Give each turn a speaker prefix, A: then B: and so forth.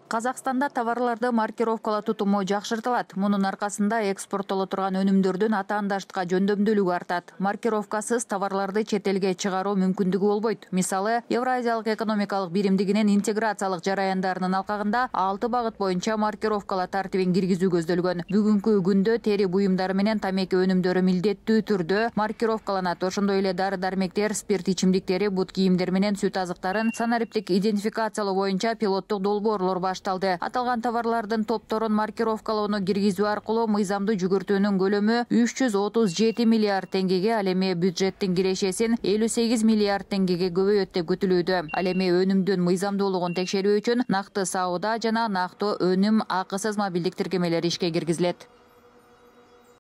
A: Казакстанда товарларды маркировкалоо тутуму жакшыртылат. Мунун аркасында экспорттоло турган өнүмдөрдүн атаандаштыкка жөндөмдүүлүгү артат. Маркировкасыз товарларды чет элге чыгаруу мүмкүндүгү болбойт. Мисалы, Евразиялык экономикалык биримдигинин интеграциялык жараяндарынын алкагында 6 багыт боюнча маркировкалоо тартибин киргизүү көздөлгөн. Бүгүнкү күндө тери буюмдары менен тамеки өнүмдөрү милдеттүү түрдө маркировкаланат. Ошондой эле дары-дармектер, спирт ичимдиктери, бут кийимдер менен сүт азыктарын санариптик идентификациялоо боюнча пилоттук долбоорлор башталды. Аталган товарлардын топторун маркировкалоону киргизүү аркылуу мыйзамдуу жүгүртүүнүн көлөмү 337 миллиард теңгеге, ал эми бюджеттин кирешесин 58 миллиард теңгеге көбөйөт деп күтүлүүдө. Ал эми өнүмдүн мыйзамдуулугун текшерүү үчүн накты сауда жана нактуу өнүм акысыз мобилдик тиркемелери ишке киргизилет.